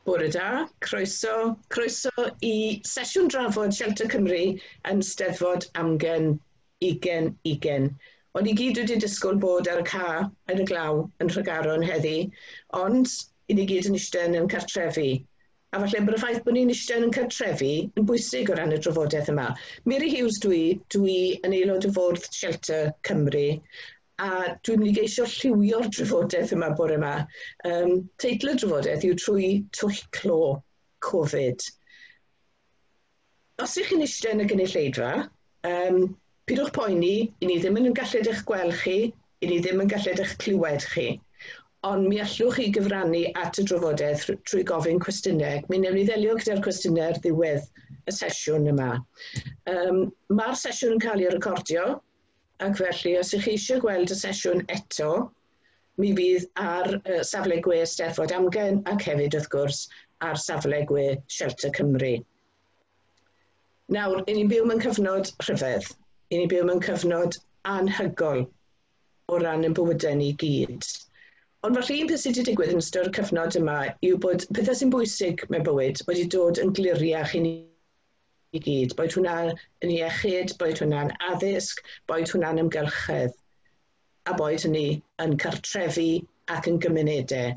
Bore da, croeso, croeso i sesiwn drafod Shelter Cymru yn Steddfod Amgen 2020. O'n i gyd wedi disgwyl bod ar y ca yn y glaw yn Nhregaron heddi, ond i ni gyd yn eistedd yn cartrefi. A falle bod y ffaith bod ni'n eistedd yn cartrefi yn bwysig o ran y drafodaeth yma. Mary Hughes dwi yn aelod o fwrdd Shelter Cymru, a dwi'n mynd i geisio lliwio'r drafodaeth yma bore yma. Teitl y drafodaeth yw Trwy Twll Clo Covid. Os ych chi'n eistedd yn y gynulleidfa, pidwch poeni, i ni ddim yn gallu eich gweld chi, i ni ddim yn gallu eich clywed chi. Ond mi allwch chi gyfrannu at y drafodaeth trwy gofyn cwestiynau. Mi wnawn ni ddelio gyda'r cwestiynau ar ddiwedd y sesiwn yma. Mae'r sesiwn yn cael ei recordio, ac felly os ych chi eisiau gweld y sesiwn eto, mi fydd ar safle gwe Steddfod Amgen ac hefyd wrth gwrs ar safle gwe Shelter Cymru. Nawr, i ni'n byw mewn cyfnod rhyfedd. I ni'n byw mewn cyfnod anhygoel o ran ein bywydau ni gyd. Ond falle un peth sydd wedi digwydd yn ystod y cyfnod yma yw bod pethau sy'n bwysig mewn bywyd wedi dod yn gliriach i ni i gyd, boed hwnna yn iechyd, boed hwnna'n addysg, boed hwnna'n ymgylchedd, a boed hynny yn cartrefi ac yn gymunedau.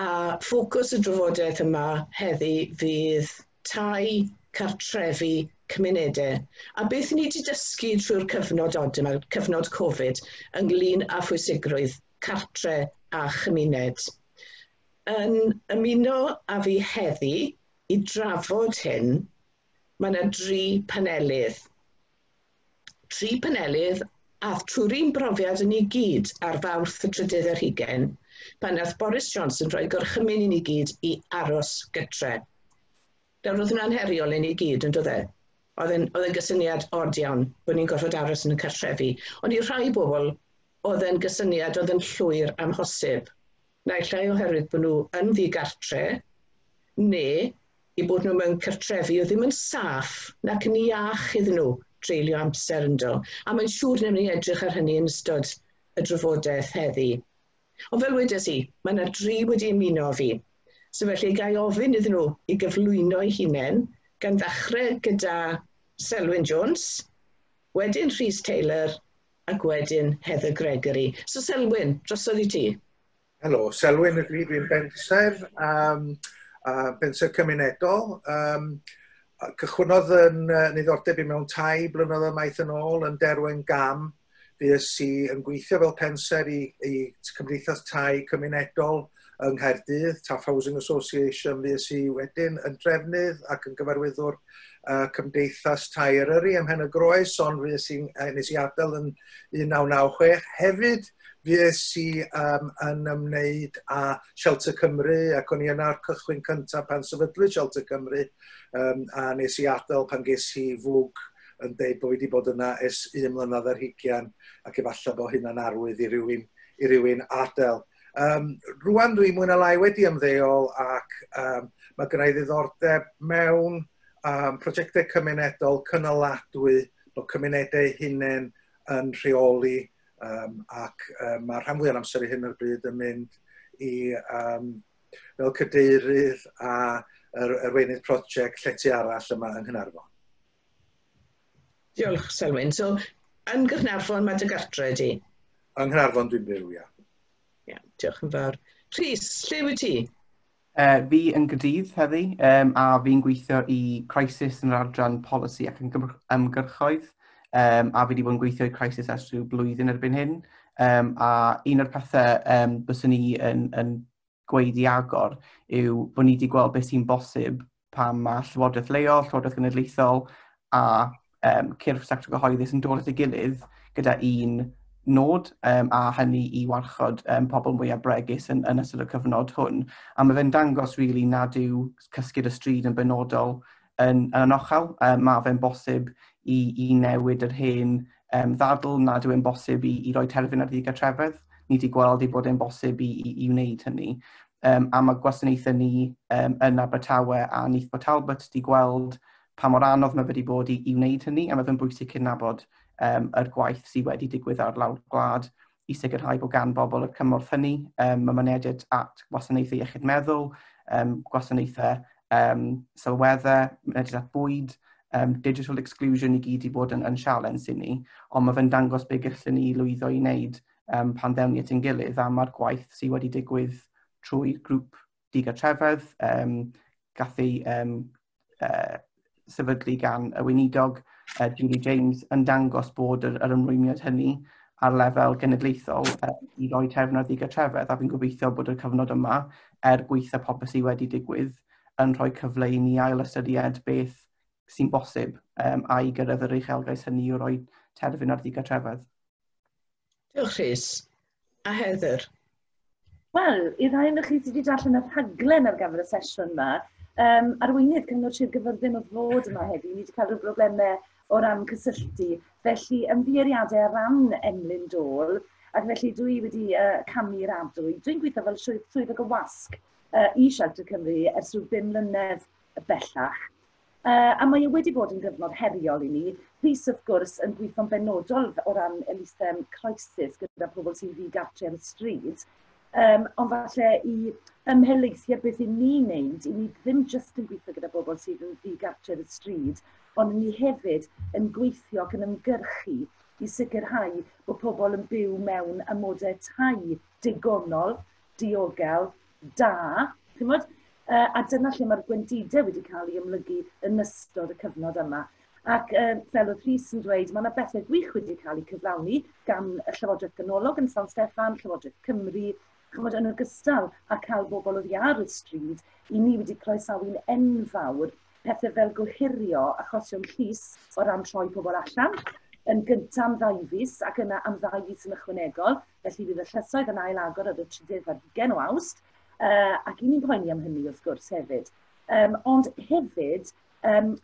A ffocws y drafodaeth yma heddi fydd tai, cartrefi, cymunedau. A beth ni wedi dysgu trwy'r cyfnod od yma, cyfnod Covid, ynglyn â phwysigrwydd cartre a chymuned. Yn ymuno â fi heddi i drafod hyn, mae yna dri panelydd. Tri panelydd a trwy'r un brofiad yn ei gyd ar Fawrth y trydydd ar hugain, pan nath Boris Johnson rhoi gorchymyn i ni gyd i aros gytre. Nawr oedd hwnna'n heriol i ni gyd, yn doedd e? Oedd e'n gysyniad od iawn bod ni'n gorfod aros yn y cartrefi. Ond i rhai bobl, oedd e'n gysyniad oedd yn llwyr amhosib. Naill ai oherwydd bod nhw yn ddigartre, neu i bod nhw mewn cartrefi oedd ddim yn saff nac yn iach iddyn nhw treulio amser ynddo. A mae'n siŵr wnawn ni edrych ar hynny yn ystod y drafodaeth heddi. Ond fel wedes i, mae yna dri wedi ymuno â fi. So felly ga i ofyn iddyn nhw i gyflwyno eu hunain, gan ddechrau gyda Selwyn Jones, wedyn Rhys Taylor ac wedyn Heather Gregory. So Selwyn, drosodd i ti. Helo, Selwyn ydw i, dwi'n bensaer, bensaer cymunedol. Cychwynnodd yn niddordeb i mewn tai blynyddoedd maith yn ôl yn Derwen Gam. Fues i yn gweithio fel pensaer i Cymdeithas Tai Cymunedol yng Nghaerdydd, Taff Housing Association. Fues i wedyn yn drefnydd ac yn gyfarwyddwr Cymdeithas Tai Eryri ym Mhen y Groes, ond fues i, nes i adael yn 1996. Hefyd, fues i yn ymwneud â Shelter Cymru, ac o'n i yna'r cychwyn cyntaf pan sefydlwyd Shelter Cymru, a nes i adael pan ges i fwg yn deud bod wedi bod yna ers 1 mlynedd ar hugain, ac efallai bod hynna'n arwydd i rywun adael. Rwan dwi mwy na lai wedi ymddeol, ac mae gynna i ddiddordeb mewn prosiectau cymunedol cynaladwy, bod cymunedau hunain yn rheoli, ac mae rhan fwyaf o'r amser i hyn o'r bryd yn mynd i fel cadeirydd a yr arweinydd prosiect Llety Arall yma yng Nghaernarfon. Diolch, Selwyn. So, yn Gaernarfon mae dy gartre di? Yng Nghaernarfon dwi'n byw, ia. Ia, diolch yn fawr. Rhys, lle wyt ti? Fi yn Gaerdydd heddi, a fi'n gweithio i Crisis yn yr adran polisi ac ymgyrchoedd, a fi wedi bod yn gweithio i Crisis ers rhyw blwyddyn erbyn hyn. A un o'r pethau byswn ni yn gweud i agor yw bod ni wedi gweld beth sy'n bosib pan mae Llywodraeth leol, Llywodraeth Genedlaethol a cyrff sector gyhoeddus yn dod at ei gilydd gyda un nod, a hynny i warchod pobl mwyaf bregus yn ystod y cyfnod hwn. A mae fe'n dangos really nad yw cysgu'r y stryd yn benodol yn anochel. Mae fe'n bosib i newid yr hen ddadl nad yw'n bosib i roi terfyn ar ddigartrefedd. Ni wedi gweld ei bod e'n bosib i wneud hynny. A mae gwasanaethau ni yn Abertawe a Neath Port Talbot wedi gweld pa mor anodd mae wedi bod i wneud hynny, a mae fe'n bwysig cydnabod yr gwaith sydd wedi digwydd ar lawr gwlad i sicrhau bod gan bobl y cymorth hynny. Mae mynediad at wasanaethau iechyd meddwl, Gwasanaethau sylweddau, mynediad at bwyd, digital exclusion i gyd i bod yn sialens i ni, ond mae fe'n dangos be gallwn ni lwyddo i wneud pan ddewn ni at ein gilydd, a mae'r gwaith sydd wedi digwydd trwy grŵp digartrefedd, gath ei sefydlu gan y weinidog Julie James, yn dangos bod yr ymrwymiad hynny ar lefel genedlaethol i roi terfyn ar ddigartrefedd, a fi'n gobeithio bod y cyfnod yma, er gweitha popeth sydd wedi digwydd, yn rhoi cyfle i ni ail ystyried beth sy'n bosib a i gyrraedd yr uchelgais hynny o roi terfyn ar ddigartrefedd. Diolch, Rhys. A Heather? Wel, i rai ohonoch chi sydd wedi darllen y rhaglen ar gyfer y sesiwn yma, arweinydd Cyngor Sir Gyfyrddin oedd fod yma heddi. Ni wedi cael rhyw broblemau o ran cysylltu. Felly, ymddiheuriadau ar ran Emlyn Dole, ac felly dwi wedi camu i'r adwy. Dwi'n gweithio fel swyddog y wasg i Shelter Cymru ers rhyw 5 mlynedd bellach. A mae e wedi bod yn gyfnod heriol i ni. Rhys, wrth gwrs, yn gweithio'n benodol o ran elusen Crisis gyda pobl sy'n ddigartre ar y stryd. Ond falle i ymhelaethu ar beth i ni'n neud, i ni ddim jyst yn gweithio gyda bobl sydd yn ddigartre ar y stryd, ond ni hefyd yn gweithio ac yn ymgyrchu i sicrhau bod pobl yn byw mewn amodau tai digonol, diogel, da, chimod? A dyna lle mae'r gwendidau wedi cael ei ymlygu yn ystod y cyfnod yma. Ac fel oedd Rhys yn dweud, mae yna bethau gwych wedi cael eu cyflawni gan y Llywodraeth Ganolog yn San Steffan, Llywodraeth Cymru, chymod, yn ogystal â cael bobl oddi ar y stryd, i ni wedi croesawu'n enfawr pethau fel gohirio achosion llys o ran troi pobl allan, yn gyntaf am 2 fis ac yna am 2 fis yn ychwanegol, felly fydd y llysoedd yn ail agor ar y 23 o Awst, ac i ni'n poeni am hynny wrth gwrs hefyd. Ond hefyd,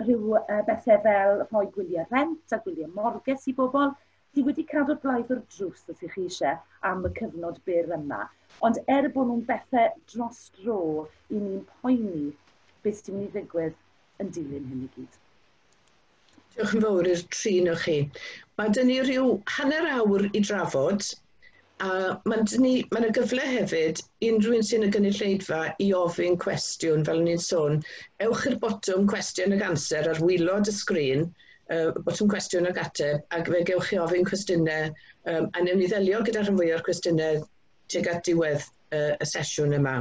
rhyw bethau fel rhoi gwyliau rent a gwyliau morges i bobl, sydd wedi cadw'r blaidd o'r drws os ych chi eisiau am y cyfnod byr yma. Ond er bod nhw'n bethau dros dro, i ni'n poeni beth sy'n mynd i ddigwydd yn dilyn hyn i gyd. Diolch yn fawr i'r tri o chi. Mae dyn ni rhyw hanner awr i drafod, a mae yna gyfle hefyd i unrhyw un sy'n y gynulleidfa i ofyn cwestiwn, fel o'n i'n sôn. Ewch i'r botwm cwestiwn ag answer ar waelod y sgrin, botwm cwestiwn ag ateb, ac fe gewch chi ofyn cwestiynau, a newn ni ddelio gyda rhan fwyaf o'r cwestiynau tuag at diwedd y sesiwn yma.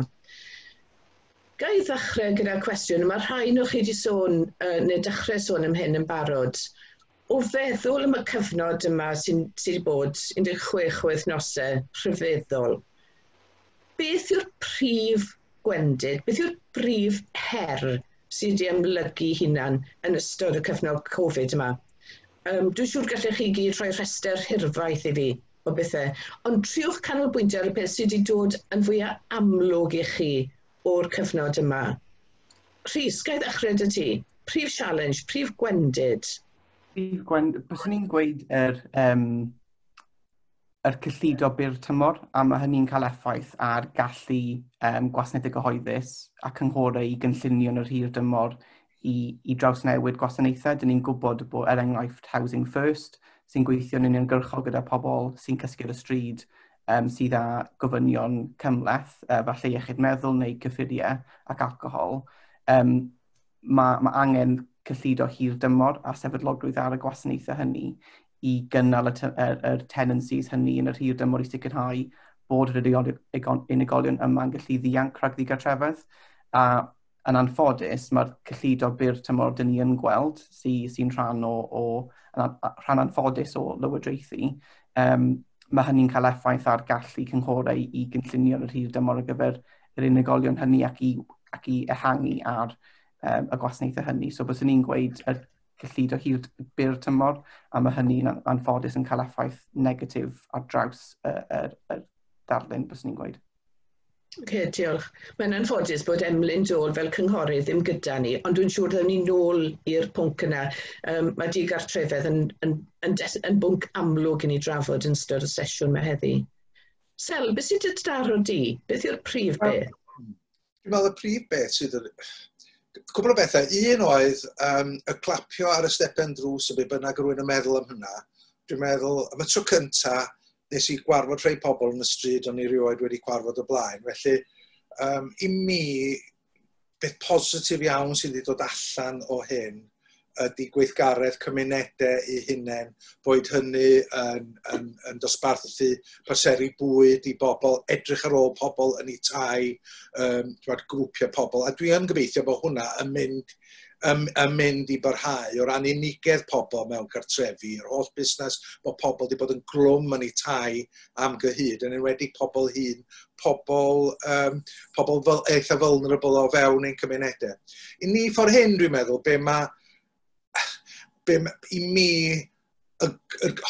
Ga i ddechrau gyda cwestiwn, mae rhai o chi wedi sôn, neu dechrau sôn am hyn yn barod. O feddwl am y cyfnod yma sydd wedi bod 16 wythnosau rhyfeddol, beth yw'r prif gwendid, beth yw'r prif her sydd wedi amlygu hunan yn ystod y cyfnod Covid yma? Dwi'n siŵr gallech chi gyd rhoi rhestr hirfaith i fi o bethau, ond triwch canolbwyntio ar y peth sydd wedi dod yn fwyaf amlwg i chi o'r cyfnod yma. Rhys, ga i ddechrau 'da ti? Prif challenge, prif gwendid? Prif gwendid, byswn i'n gweud yr cyllido byr tymor, a mae hynny'n cael effaith ar gallu gwasanaethau gyhoeddus a cynghorau i gynllunio yn yr hir dymor i drawsnewid gwasanaethau. Dyn ni'n gwybod bod, er enghraifft, Housing First, sy'n gweithio'n uniongyrchol gyda pobl sy'n cysgu ar y stryd, sydd â gofynion cymhleth, falle iechyd meddwl neu cyffuriau ac alcohol, mae angen cyllido hir dymor a sefydlogrwydd ar y gwasanaethau hynny i gynnal y tenancies hynny yn yr hir dymor i sicrhau bod yr unigolion yma'n gallu ddianc rhag ddigartrefedd. A yn anffodus, mae'r cyllido byr tymor dyn ni yn gweld, sy'n rhan rhan anffodus o lywodraethu, mae hynny'n cael effaith ar gallu cynghorau i gynllunio yr hir dymor ar gyfer yr unigolion hynny ac i ehangu ar y gwasanaethau hynny. So byswn i'n gweud y cyllido hir byr tymor, a mae hynny'n anffodus yn cael effaith negatif ar draws y darlun, byswn i'n gweud. Okay, diolch. Mae'n anffodus bod Emlyn Dole fel cynghorydd ddim gyda ni, ond dwi'n siŵr ddawn ni nôl i'r pwnc yna. Mae digartrefedd yn bwnc amlwg i ni drafod yn ystod y sesiwn 'ma heddi. Sel, beth sydd dy daro di? Beth yw'r prif beth? Dwi'n meddwl y prif beth sydd yn... Cwpl o bethau. Un oedd y clapio ar y stepen drws y be bynnag rwy'n yn meddwl am hynna. Dwi'n meddwl, am y tro cynta, nes i gwarfod rhai pobl yn y stryd o'n i rioed wedi gwarfod o blaen. Felly, i mi, Beth positif iawn sydd wedi dod allan o hyn ydy gweithgaredd cymunedau eu hunain, boed hynny yn dosbarthu parseli bwyd i bobl, edrych ar ôl pobl yn eu tai, grwpiau pobl. A dwi yn gobeithio bod hwnna yn mynd i barhau o ran unigedd pobl mewn cartrefi, yr holl busnes bod pobl wedi bod yn glwm yn eu tai am gyhyd, yn enwedig pobl hŷn, pobl fel, eitha vulnerable o fewn ein cymunedau. I ni ffordd hyn, dwi'n meddwl, be i mi y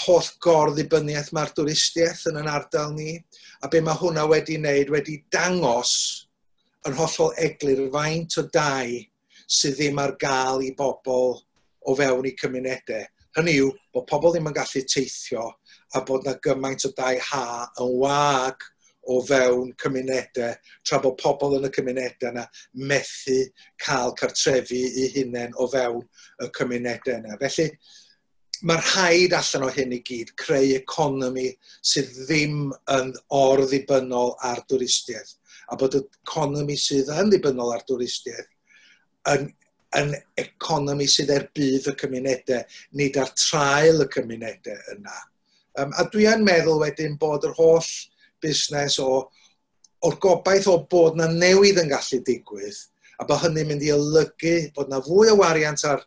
holl gor-ddibyniaeth mae'r dwristiaeth yn yn ardal ni, a be mae hwnna wedi wneud, wedi dangos yn hollol eglur faint o dai sydd ddim ar gael i bobl o fewn eu cymunedau. Hynny yw, bod pobl ddim yn gallu teithio a bod na gymaint o dai ha yn wag o fewn cymunedau, tra bod pobl yn y cymunedau yna methu cael cartrefi eu hunain o fewn y cymunedau yna. Felly, mae rhaid allan o hyn i gyd creu economi sydd ddim yn or-ddibynnol ar dwristiaeth, a bod y economi sydd yn ddibynnol ar dwristiaeth yn economi sydd er budd y cymunedau, nid ar traul y cymunedau yna. A dwi yn meddwl wedyn bod yr holl busnes o'r gobaith o bod na newid yn gallu digwydd, a bod hynny'n mynd i olygu bod na fwy o wariant ar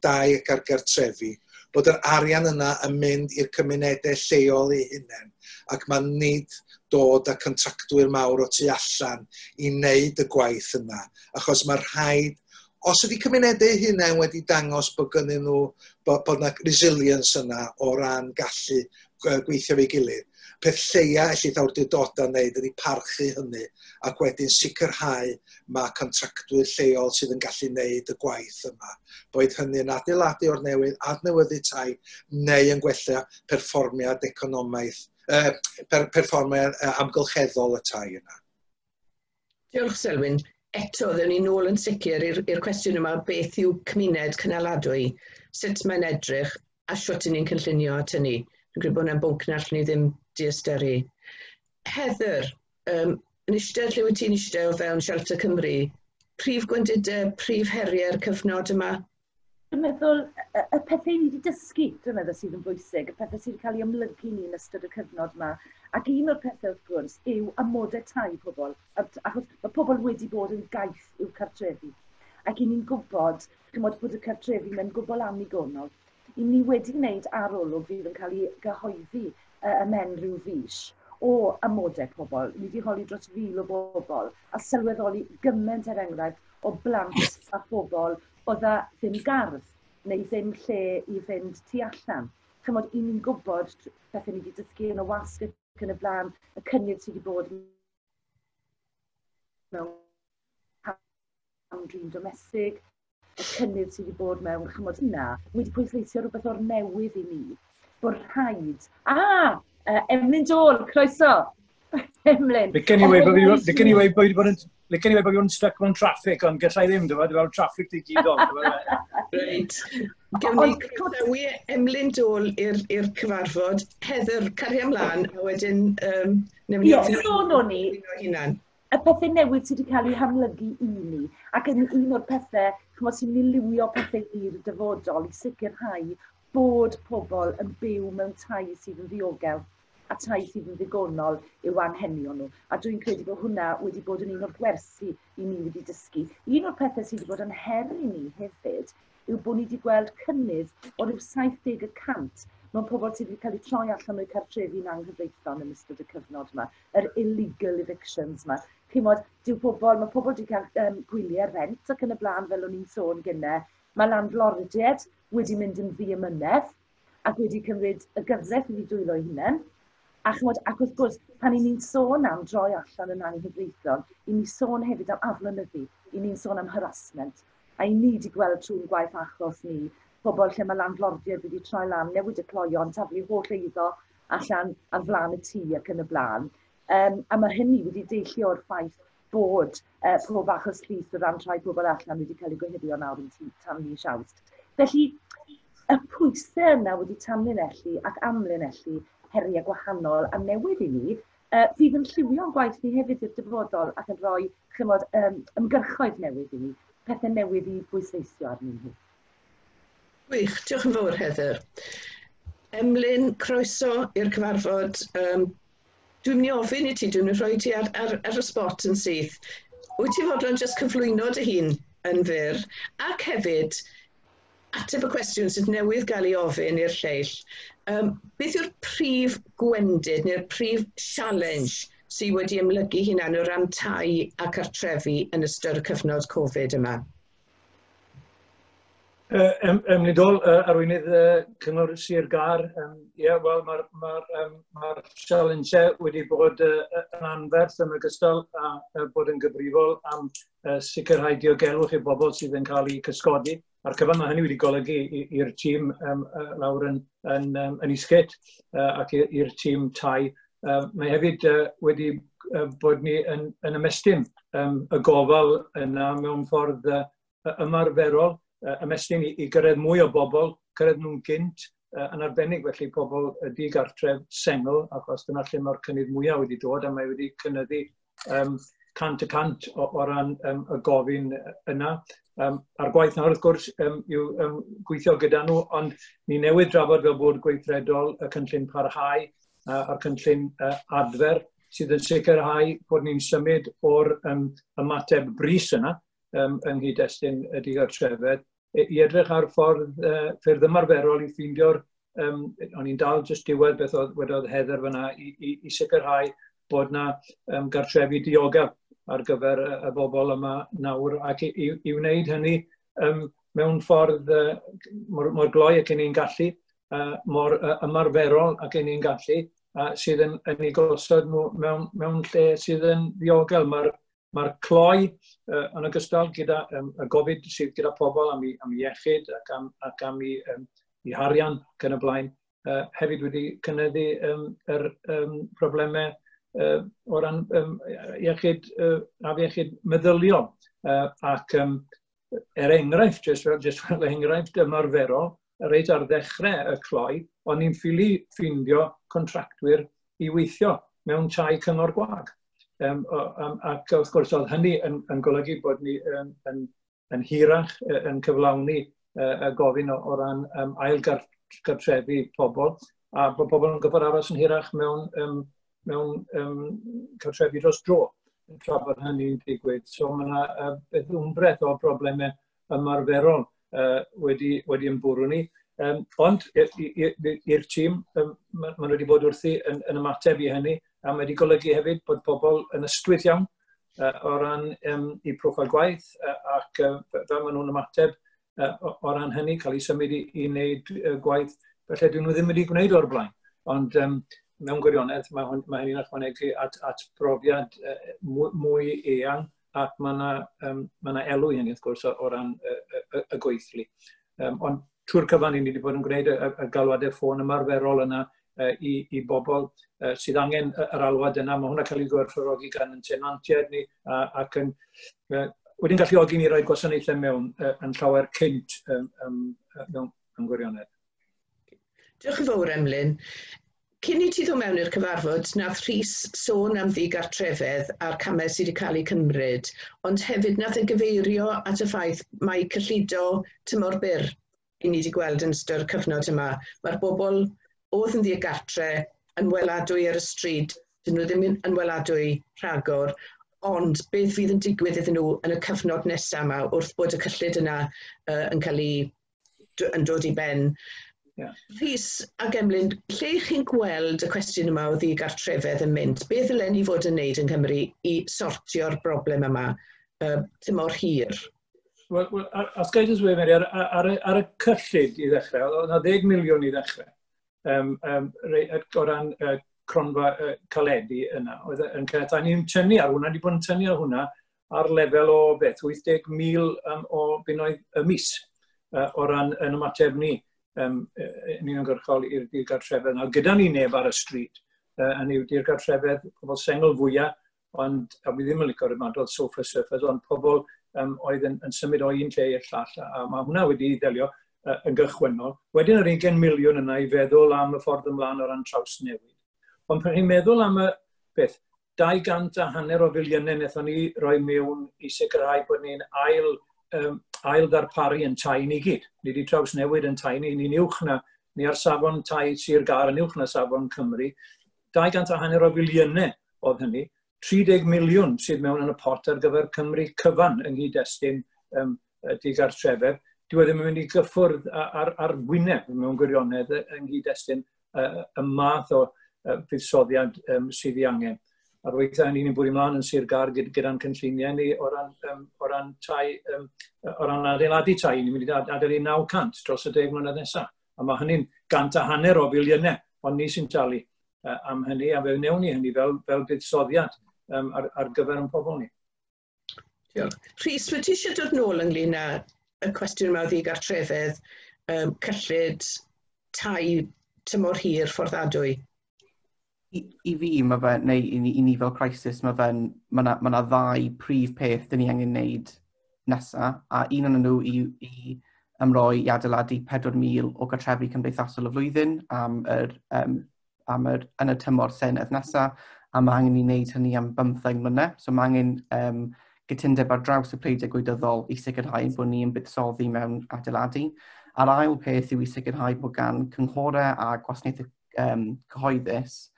dai ac ar gartrefi, bod yr arian yna yn mynd i'r cymunedau lleol eu hunain, ac mae nid dod â contractwyr mawr o tu allan i wneud y gwaith yna, achos mae rhaid, os ydy cymunedau eu hunain wedi dangos bod gynnyn nhw, bod na resilience yna o ran gallu gweithio efo'i gilydd, peth lleia ellith awdurdodau wneud ydy parchu hynny ac wedyn sicrhau mae contractwyr lleol sydd yn gallu wneud y gwaith yma. Boed hynny yn adeiladu o'r newydd, adnewyddu tai, neu yn gwella perfformiad economaidd, perfformiad amgylcheddol y tai yna. Diolch, Selwyn. Eto, ddewn ni nôl yn sicr i'r cwestiwn yma, beth yw cymuned cynaladwy, sut mae'n edrych a sut ni'n cynllunio at hynny. Dwi'n credu bod hwnna'n bwnc na allwn ni ddim diystyru. Heather, yn eistedd lle wyt ti'n eistedd o fewn Shelter Cymru, prif gwendidau, prif heriau'r cyfnod yma? Dwi'n meddwl, y pethau ni wedi dysgu, dwi'n meddwl sydd yn bwysig, y pethau sydd wedi cael ei amlygu ni yn ystod y cyfnod yma. Ac un o'r pethau wrth gwrs yw amodau tai pobl, achos mae pobl wedi bod yn gaeth i'w cartrefi. Ac i ni'n gwybod, chymod, bod y cartrefi mewn gwbl annigonol. I ni wedi gwneud arolwg fydd yn cael ei gyhoeddi ymhen rhyw fis o amodau pobl. Ni wedi holi dros 1,000 o bobl a sylweddoli gymaint, er enghraifft, o blant a phobl oedd â ddim gardd neu ddim lle i fynd tu allan. Chymod, i ni'n gwybod pethau ni wedi dysgu yn y wasg ac yn y blaen, y cynnydd sydd wedi bod mewn cam-drin domestig, y cynnydd sydd wedi bod mewn, chymod, hynna, wedi pwysleisio rhywbeth o'r newydd i ni, bod rhaid. Ah, Emlyn Dole, croeso! Emlyn. Licen i weud bod fi wedi bod yn stuck mewn traffic, ond gallai ddim, dwi'n fel traffic digidol. Reit. Gewn ni croesawu Emlyn Dole i'r cyfarfod. Heather, caria ymlaen, a wedyn newn ni sôn o'n i, y pethau newydd sydd wedi cael eu hamlygu i ni, ac yn un o'r pethau, chymod, sy'n mynd i liwio pethau i'r dyfodol i sicrhau bod pobl yn byw mewn tai sydd yn ddiogel a tai sydd yn ddigonol i'w anghenion nhw. A dwi'n credu bod hwnna wedi bod yn un o'r gwersi i ni wedi dysgu. Un o'r pethau sydd wedi bod yn her i ni hefyd yw bod ni wedi gweld cynnydd o ryw 70% mewn pobl sydd wedi cael eu troi allan o'u cartrefi'n anghyfreithlon yn ystod y cyfnod yma, yr illegal evictions yma. Chimod, mae pobl wedi cael gwyliau rent ac yn y blaen, fel o'n i'n sôn gynne. Mae landlordiaid wedi mynd yn ddiamynedd ac wedi cymryd y gyfraith i dwylo eu hunain. A chymod, ac wrth gwrs, pan i ni'n sôn am droi allan yn anghyfreithlon, i ni sôn hefyd am aflonyddu, i ni'n sôn am harassment. A i ni wedi gweld trwy'n gwaith achos ni, pobl lle mae landlordiaid wedi troi lan, newid y cloion, taflu holl eiddo allan ar flaen y tŷ ac yn y blaen. A mae hynny wedi deillio o'r ffaith bod pob achos llys o ran troi pobl allan wedi cael ei gohirio nawr yn tan mis Awst. Felly, y pwysau yna wedi tanlinellu ac amlinellu heriau gwahanol a newydd i ni. Fydd yn lliwio'n gwaith ni hefyd i'r dyfodol ac yn rhoi, chymod, ymgyrchoedd newydd i ni, pethau newydd i bwysleisio arnyn nhw. Gwych, diolch yn fawr, Heather. Emlyn, croeso i'r cyfarfod. Dwi'n mynd i ofyn i ti, dwi'n mynd i rhoi ti ar y spot yn syth. Wyt ti fodlon jyst cyflwyno dy hun yn fyr, ac hefyd ateb y cwestiwn sydd newydd gael ei ofyn i'r lleill? Beth yw'r prif gwendid neu'r prif challenge sydd wedi ymlygu hunan o ran tai a cartrefi yn ystod y cyfnod Covid yma? Emlyn Dole, arweinydd Cyngor Sir Gâr. Ie, wel, mae'r ma challenge wedi bod yn anferth, yn ogystal â bod yn gyfrifol am sicrhau diogelwch i bobl sydd yn cael eu cysgodi. A'r cyfan mae hynny wedi golygu i'r tîm lawr yn Eastgate ac i'r tîm tai. Mae hefyd wedi bod ni yn ymestyn y gofal yna mewn ffordd ymarferol, ymestyn i gyrraedd mwy o bobl, cyrraedd nhw'n gynt, yn arbennig felly pobl digartref sengl, achos dyna lle mae'r cynnydd mwyaf wedi dod, a mae wedi cynyddu 100% o ran y gofyn yna. A'r gwaith nawr, wrth gwrs, yw gweithio gyda nhw, ond ni newydd drafod fel bwrdd gweithredol y cynllun parhau a'r cynllun adfer, sydd yn sicrhau bod ni'n symud o'r ymateb brys yna yng nghyd-destun y digartrefedd i edrych ar ffyrdd ymarferol i ffeindio'r, o'n i'n dal jyst diwedd beth oedd wedodd Heather fyna, i sicrhau bod na gartrefi diogel ar gyfer y bobl yma nawr, ac i wneud hynny mewn ffordd mor gloi ac ni'n gallu, mor ymarferol ac ni'n gallu, sydd yn ei gosod nhw mewn lle sydd yn ddiogel. Mae'r cloi yn ogystal gyda y gofid sydd gyda pobl am iechyd ac am i harian ac yn y blaen, hefyd wedi cynyddu yr problemau o ran iechyd, afiechyd meddyliol. Ac er enghraifft, jyst fel enghraifft ymarferol, reit ar ddechrau y cloi, o'n i'n ffili ffindio contractwyr i weithio mewn tai cyngor gwag. Ac wrth gwrs oedd hynny yn golygu bod ni yn hirach yn cyflawni y gofyn o ran ail gartrefi pobl, a bod pobl yn gorfod aros yn hirach mewn cartrefi dros dro tra bod hynny'n digwydd. So mae yna beth wmbreth o broblemau ymarferol wedi ymfwrw ni. Ond i'r tîm, maen nhw wedi bod wrthi yn ymateb i hynny, a mae wedi golygu hefyd bod pobl yn ystwyth iawn o ran i proffil gwaith ac fel maen nhw'n ymateb o ran hynny, cael eu symud i wneud gwaith felly dyn nhw ddim wedi gwneud o'r blaen. Ond mewn gwirionedd, mae hynny'n ychwanegu at brofiad mwy eang, ac mae yna ma elw i hynny, wrth gwrs, o ran y gweithlu. Ond trwy'r cyfan, ni wedi bod yn gwneud y galwadau ffôn ymarferol yna i bobl sydd angen yr alwad yna. Mae hwnna cael ei gwerthfawrogi gan yn tenantiaid ni ac yn wedi'n galluogi ni roi gwasanaethau mewn yn llawer cynt mewn gwirionedd. Diolch yn fawr, Emlyn. Cyn i ti ddod mewn i'r cyfarfod, nath Rhys sôn am ddigartrefedd a'r camau sydd wedi cael eu cymryd, ond hefyd nath e gyfeirio at y ffaith mai cyllido tymor byr i ni wedi gweld yn ystod y cyfnod yma. Mae'r bobl oedd yn ddigartre yn weladwy ar y stryd, dyn nhw ddim yn weladwy rhagor, ond beth fydd yn digwydd iddyn nhw yn y cyfnod nesaf yma wrth bod y cyllid yna yn cael ei yn dod i ben? Rhys ac Emlyn, lle chi'n gweld y cwestiwn yma o ddigartrefedd yn mynd? Beth ddylen ni fod yn wneud yng Nghymru i sortio'r broblem yma tymor hir? Wel, os ga i jyst weud, Mary, ar y cyllid i ddechrau, oedd yna 10 miliwn i ddechrau o ran cronfa caledi yna. Oedd yn caniatáu ni'n tynnu ar hwnna, wedi bod yn tynnu ar hwnna ar lefel o beth, 80,000 o bunnoedd y mis o ran yn ymateb ni yn uniongyrchol i'r digartrefedd. Nawr, gyda ni neb ar y stryd, hynny yw digartrefedd pobl sengl fwyaf, ond a fi ddim yn licio'r ymadrodd sofa surfers, ond pobl oedd yn symud o un lle i'r llall, a mae hwnna wedi ddelio yn gychwynnol. Wedyn yr 20 miliwn yna i feddwl am y ffordd ymlaen o ran trawsnewid. Ond pan chi'n meddwl am y Beth, 250 o filiynau wnaethon ni roi mewn i sicrhau bod ni'n ail ddarparu yn tai ni gyd. Ni wedi trawsnewid yn tai ni, ni'n uwch na, ni ar safon tai Sir Gâr yn uwch na safon Cymru. 250 o filiynau oedd hynny. 30 miliwn sydd mewn yn y pot ar gyfer Cymru cyfan yng nghyd-destun digartrefedd. Dyw e ddim yn mynd i gyffwrdd ar wyneb mewn gwirionedd yng nghyd-destun y math o fuddsoddiad sydd ei angen. A'r weithiau hynny ni'n bwrw ymlaen yn Sir Gâr gyda'n cynlluniau ni o ran tai, o ran adeiladu tai. Ni'n mynd i adeiladu 900 dros y 10 mlynedd nesaf. A mae hynny'n 150 o filiynau, ond ni sy'n talu am hynny, a fe wnewn ni hynny fel buddsoddiad ar gyfer ein pobl ni. Diolch. Rhys, wyt ti eisiau dod nôl ynglyn â y cwestiwn yma o ddigartrefedd, cyllid, tai tymor hir fforddadwy? I fi, mae fe, neu i ni fel Crisis, mae ma ddau prif peth dyn ni angen wneud nesaf, a un o'n nhw i ymroi i adeiladu 4,000 o gartrefi cymdeithasol y flwyddyn yn y tymor Senedd nesaf, a mae angen i wneud hynny am 15 mlynedd. So mae angen gytundeb ar draws y pleidiau gwleidyddol i sicrhau bod ni'n buddsoddi mewn adeiladu. A'r ail peth yw i sicrhau bod gan cynghorau a gwasanaethau cyhoeddus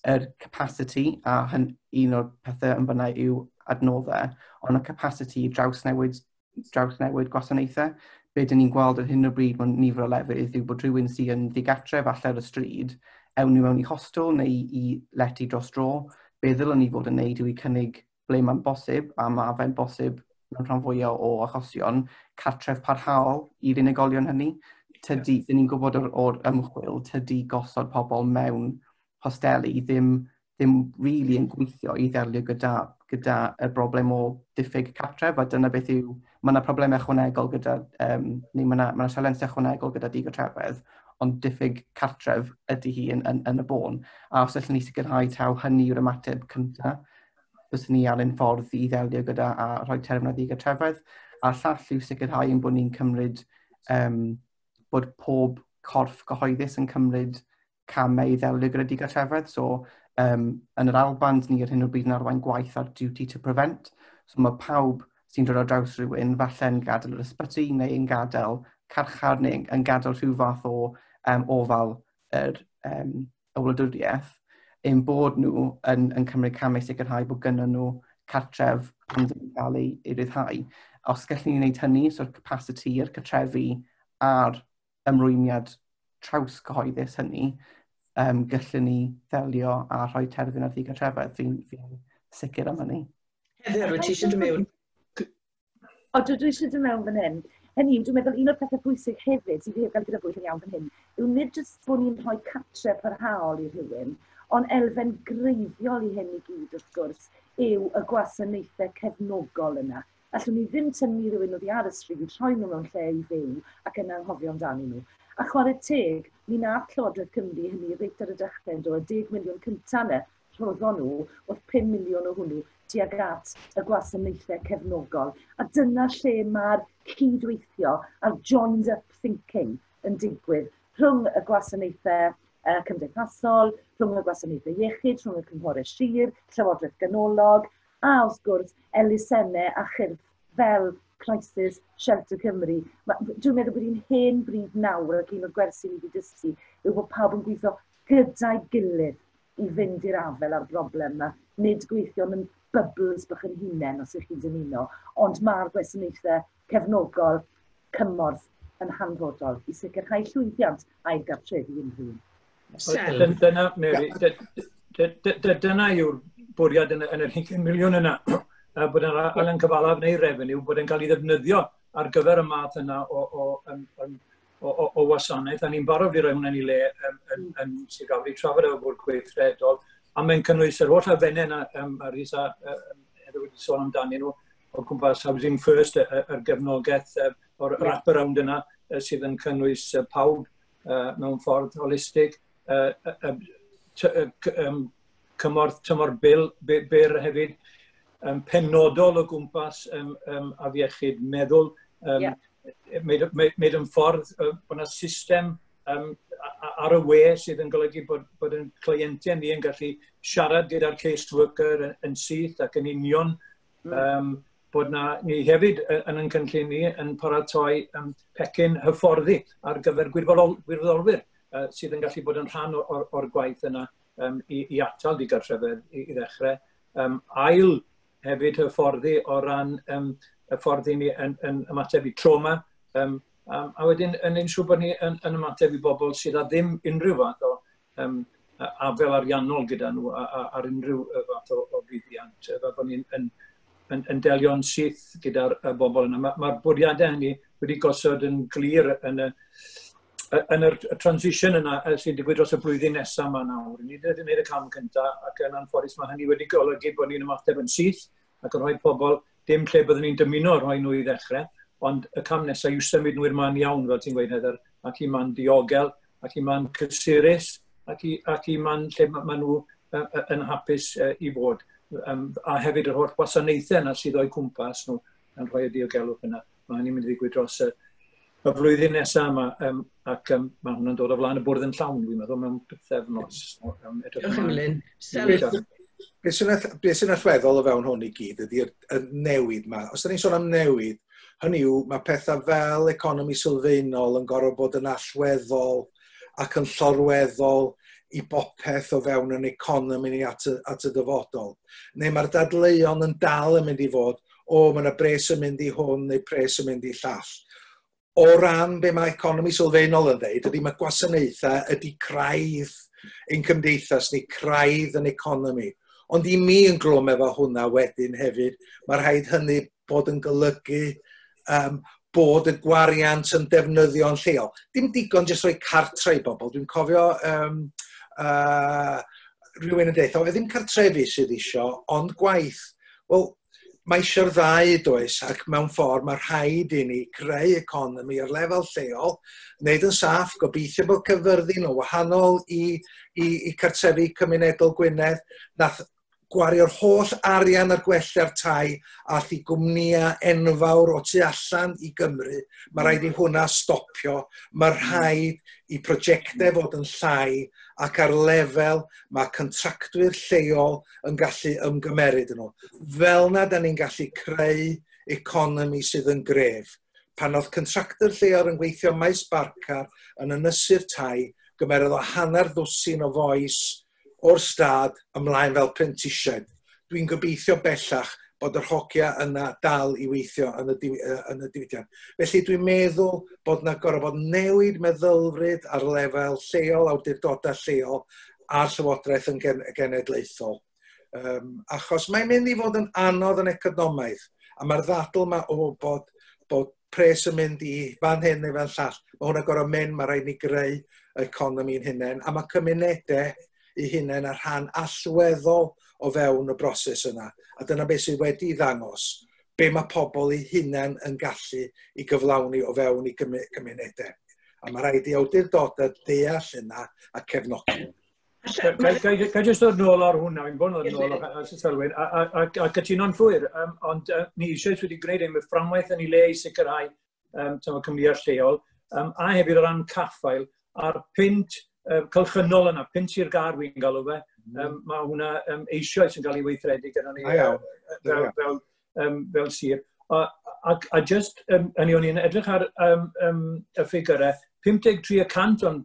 yr capacity, a un o'r pethau yn fyna yw adnoddau, ond y capacity i drawsnewid gwasanaethau. Be dyn ni'n gweld ar hyn o bryd mewn nifer o lefydd yw bod rhywun sydd yn ddigartref falle ar y stryd, ewn nhw mewn i hostel neu i lety dros dro. Be ddylwn ni fod yn neud yw i cynnig ble mae'n bosib, a mae fe'n bosib mewn rhan fwyaf o achosion, cartref parhaol i'r unigolion hynny. Tydi, dyn ni'n gwybod o'r ymchwil, tydi gosod pobl mewn hosteli ddim really yn gweithio i ddelio gyda y broblem o diffyg cartref, a dyna beth yw, mae yna problemau ychwanegol gyda, neu mae yna ma sialensau ychwanegol gyda digartrefedd, ond diffyg cartref ydy hi yn y bôn. A os allwn ni sicrhau taw hynny yw'r ymateb cyntaf, byswn ni ar un ffordd i ddelio gyda a rhoi terfyn ar ddigartrefedd. A llall yw sicrhau ein bod ni'n cymryd, bod pob corff gyhoeddus yn cymryd camau i ddelio gyda digartrefedd. So, yn yr Alban, ni ar hyn o bryd yn arwain gwaith ar duty to prevent. So mae pawb sy'n dod ar draws rhywun, falle'n gadael yr ysbyty neu yn gadael carchar neu yn gadael rhyw fath o ofal y wladwriaeth, ein bod nhw yn cymryd camau sicrhau bod gynnon nhw cartref pan dyn nhw'n cael ei ryddhau. Os gallwn ni wneud hynny, so'r capacity i'r cartrefi a'r ymrwymiad traws cyhoeddus hynny, gallwn ni ddelio a rhoi terfyn ar ddigartrefedd. Fi sicr am hynny. Heather, wyt ti eisiau dod mewn? O, dwi eisiau dod mewn fan hyn. Hynny yw, dwi'n meddwl un o'r pethau pwysig hefyd sydd wedi cael grybwyll yn iawn fan hyn, yw nid jyst bod ni'n rhoi cartre parhaol i rhywun, ond elfen greiddiol i hyn i gyd, wrth gwrs, yw y gwasanaethau cefnogol yna. Allwn ni ddim tynnu rhywun oddi ar y stryd, rhoi nhw mewn lle i fyw ac yna anghofio amdanyn nhw. A chwarae teg, mi nath Llywodraeth Cymru hynny reit ar y dechrau yn dod, 10 miliwn cyntaf yna, rhoddon nhw, oedd 5 miliwn o hwnnw tuag at y gwasanaethau cefnogol. A dyna lle mae'r cydweithio a'r joined up thinking yn digwydd rhwng y gwasanaethau cymdeithasol, rhwng y gwasanaethau iechyd, rhwng y cynghorau sir, Llywodraeth Ganolog, a wrth gwrs elusennau a chyrff fel Crisis Shelter Cymru. Dwi'n meddwl bod hi'n hen bryd nawr ac un o'r gwersi ni wedi dysgu yw bod pawb yn gweithio gyda'i gilydd i fynd i'r afael â'r broblem yma. Nid gweithio mewn bubbles bach yn hunain os ych chi'n dymuno, ond mae'r gwasanaethau cefnogol cymorth yn hanfodol i sicrhau llwyddiant a'i gartrefi unrhyw un. Dyna, Mary, dyna yw'r bwriad yn yr 20 miliwn yna, bod yn arian cyfalaf neu revenue, bod yn cael ei ddefnyddio ar gyfer y math yna o wasanaeth, a ni'n barod i roi hwnna'n ei le yn Sir Gâr i trafod efo bwrdd gweithredol, a mae'n cynnwys yr holl elfennau yna, a Rhys a Heather wedi sôn amdanyn nhw, o gwmpas Housing First, yr gefnogaeth o'r wraparound yna, sydd yn cynnwys pawb mewn ffordd holistig, cymorth tymor byr hefyd, penodol o gwmpas afiechyd meddwl, made yn ffordd bod yna system ar y we sydd yn golygu bod yn cleientiaid ni yn gallu siarad gyda'r caseworker yn syth ac yn union. Bod na, ni hefyd yn ein cynllun ni yn paratoi pecyn hyfforddi ar gyfer gwirfoddolwyr sydd yn gallu bod yn rhan o'r gwaith yna i atal digartrefedd i ddechrau. Ail hefyd hyfforddi o ran hyfforddi ni yn ymateb i trauma, a wedyn yn siŵr bod ni yn ymateb i bobl sydd â ddim unrhyw fath o afel ariannol gyda nhw ar unrhyw fath o fuddiant, fel bod ni'n yn delio'n syth gyda'r bobl yna. Mae'r bwriadau hynny wedi gosod yn glir yn y transition yna sy'n digwydd dros y blwyddyn nesaf yma nawr. Ni wedi gwneud y cam cyntaf ac yn anffodus mae hynny wedi golygu bod ni'n ymateb yn syth ac yn rhoi pobl dim lle byddwn ni'n dymuno rhoi nhw i ddechrau, ond y cam nesaf yw symud nhw i'r man iawn, fel ti'n gweud Heather, ac i man diogel, ac i man cysurus, ac i man lle maen nhw yn hapus i fod. A hefyd yr holl gwasanaethau yna sydd o'u cwmpas nhw yn rhoi y diogelwch yna. Mae hynny'n mynd i ddigwydd dros y flwyddyn nesaf yma, ac mae hwnna'n dod o flaen y bwrdd yn llawn, dwi'n meddwl, mewn pythefnos. Diolch Emlyn. Be sy'n allweddol o fewn hwn i gyd ydy'r newid yma. Os da ni'n sôn am newid, hynny yw, mae pethau fel economi sylfaenol yn gorfod bod yn allweddol ac yn llorweddol i bopeth o fewn yn economi ni at y dyfodol. Neu mae'r dadleuon yn dal yn mynd i fod, o, mae yna bres yn mynd i hwn neu pres yn mynd i llall. O ran be mae economi sylfaenol yn dweud, ydy mae gwasanaethau ydy craidd ein cymdeithas neu craidd yn economi. Ond i mi yn glwm efo hwnna wedyn hefyd, mae rhaid hynny bod yn golygu bod y gwariant yn defnyddio'n lleol. Dim digon jyst rhoi cartre i bobl. Dwi'n cofio rhywun yn deud, o, ddim cartrefi sydd isio, ond gwaith. Wel, mae eisiau'r ddau does, ac mewn ffordd mae rhaid i ni creu economi ar lefel lleol, wneud yn saff, gobeithio bod Caerfyrddin o wahanol i cartrefi cymunedol Gwynedd, nath gwario'r holl arian ar gwella'r tai ath i gwmnïau enfawr o tu allan i Gymru. Mae rhaid i hwnna stopio. Mae rhaid i prosiectau fod yn llai ac ar lefel mae contractwyr lleol yn gallu ymgymeryd yn nhw. Fel na da ni'n gallu creu economi sydd yn gref. Pan oedd contractwyr lleol yn gweithio maes Barcar yn ynysu'r tai, gymerodd o 6.5 o fois o'r stad ymlaen fel prentisiaid. Dwi'n gobeithio bellach bod yr hogia yna dal i weithio yn y diwydiant. Felly dwi'n meddwl bod yna gorfod bod newid meddylfryd ar lefel lleol, awdurdodau lleol a'r llywodraeth yn genedlaethol. Achos mae'n mynd i fod yn anodd yn economaidd, a mae'r ddadl yma o bod pres yn mynd i fan hyn neu fan llall. Mae hwnna gorfod mynd, mae rhaid ni greu economi'n hunain, a mae cymunedau i hunain a rhan allweddol o fewn y broses yna. A dyna beth sydd wedi ddangos, be mae pobl eu hunain yn gallu i gyflawni o fewn i gymunedau. A mae rhaid i awdurdodau deall yna a cefnogi. Ga i jyst dod nôl ar hwnna, fi'n bod yn nôl ar Selwyn, a cytuno'n llwyr, ond ni eisoes wedi gwneud ein fframwaith yn ei le i sicrhau cwmnïau lleol, a hefyd o ran caffael, a'r pwynt cylchynol yna, pwynt i'r gar wy'n galw fe, mae hwnna eisoes yn cael ei weithredu gyda ni fel sir. A just, hynny o'n i'n edrych ar y ffigurau, 53% o'n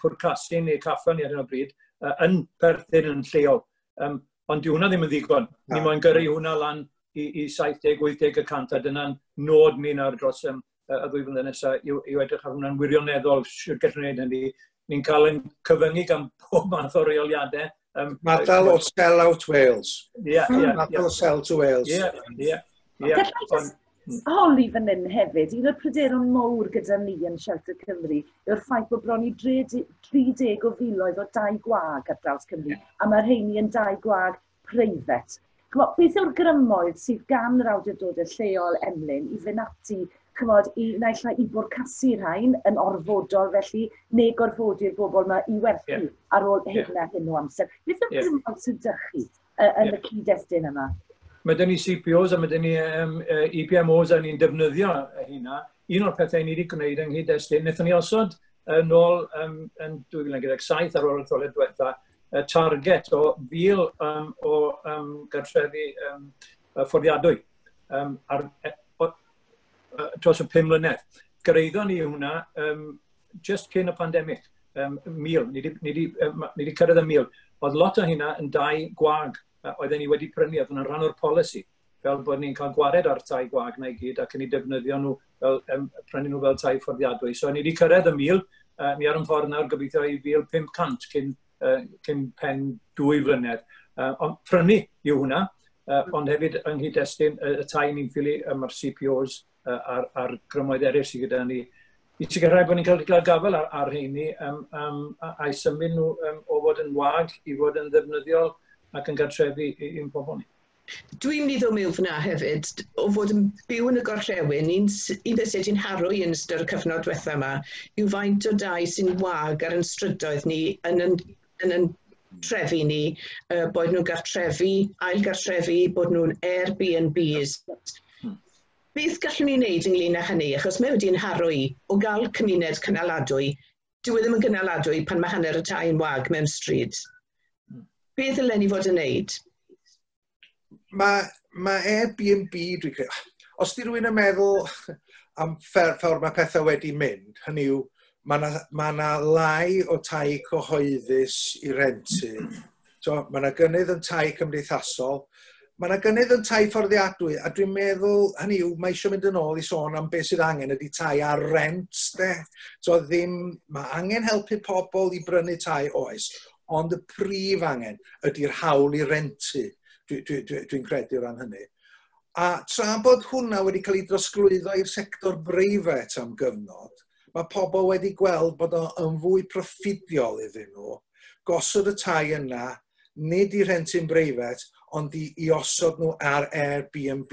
pwrcasu neu caffael ni ar hyn o bryd yn perthyn yn lleol. Ond dyw hwnna ddim yn ddigon. Ni moyn gyrru hwnna lan i 70-80%, a dyna'n nod ni nawr dros y ddwy flynedd nesaf yw edrych ar hwnna'n wirioneddol, sut gallwn ni wneud hynny. Ni'n cael ein cyfyngu gan pob math o reoliadau. Madal o sell out Wales. Madal o sell to Wales. Ie. Gallai jyst holi fan hyn hefyd, un o'r pryderon mawr gyda ni yn Shelter Cymru yw'r ffaith bod bron i 30 o filoedd o dai gwag ar draws Cymru, a mae'r rheini yn dai gwag preifat. Beth yw'r grymoedd sydd gan yr awdurdodau lleol Emlyn i fynd ati, chymod, i naill ai i bwrcasu rhain yn orfodol felly, neu gorfodi'r bobl yma i werthu ar ôl hyn a hyn o amser. Beth yw'r grymoedd sydd 'da chi yn y cyd-destun yma? Mae dyn ni CPOs a mae dyn ni EPMOs a ni'n defnyddio hynna. Un o'r pethau ni wedi gwneud yng nghyd-destun, wnaethon ni osod nôl yn 2017 ar ôl y etholiad diwetha, y target o 1,000 o gartrefi fforddiadwy dros y 5 mlynedd. Gyrhaeddon ni hwnna just cyn y pandemig, 1,000, ni di cyrraedd y 1,000. Oedd lot o hynna yn dai gwag oedden ni wedi prynu, oedd yn rhan o'r polisi, fel bod ni'n cael gwared ar tai gwag na i gyd ac yn ei defnyddio nhw, fel, prynu nhw fel tai fforddiadwy. So ni wedi cyrraedd y 1,000, ni ar yn ffordd nawr gobeithio i 1,500 cyn pen 2 flynedd. Ond prynu yw hwnna, ond hefyd yng nghyd-destun y tai ni'n ffili, mae'r CPOs a'r grymoedd eraill sydd gyda ni, i sicrhau bod ni'n cael gafael ar rheini a'i symud nhw o fod yn wag i fod yn ddefnyddiol ac yn gartrefi i'n pobl ni. Dwi'n mynd i ddod mewn fyna hefyd, o fod yn byw yn y gorllewin, un beth sydd wedi'n haro i yn ystod y cyfnod diwetha yma, yw faint o dai sy'n wag ar yn strydoedd ni yn trefi ni, boed nhw'n gartrefi, ail gartrefi, bod nhw'n Airbnbs. Beth gallwn ni wneud ynglyn â hynny? Achos mae wedi'n haro i o gael cymuned cynaladwy, dyw e ddim yn gynaladwy pan mae hanner y tai yn wag mewn stryd. Beth ddylen ni fod yn wneud? Mae Airbnb, dwi'n credu, os di rhywun yn meddwl am ffordd mae pethau wedi mynd, hynny yw, mae yna ma lai o tai cyhoeddus i rentu. So, mae yna gynnydd yn tai cymdeithasol, mae yna gynnydd yn tai fforddiadwy, a dwi'n meddwl, hynny yw, mae eisiau mynd yn ôl i sôn am beth sydd angen ydy tai ar rent, de. So ddim, mae angen helpu pobl i brynu tai, oes, ond y prif angen ydy'r hawl i rentu, dwi'n credu o ran hynny. A tra bod hwnna wedi cael ei drosglwyddo i'r sector breifat am gyfnod, mae pobl wedi gweld bod o'n fwy proffidiol iddyn nhw gosod y tai yna, nid i rhentu'n breifat, ond i osod nhw ar Airbnb.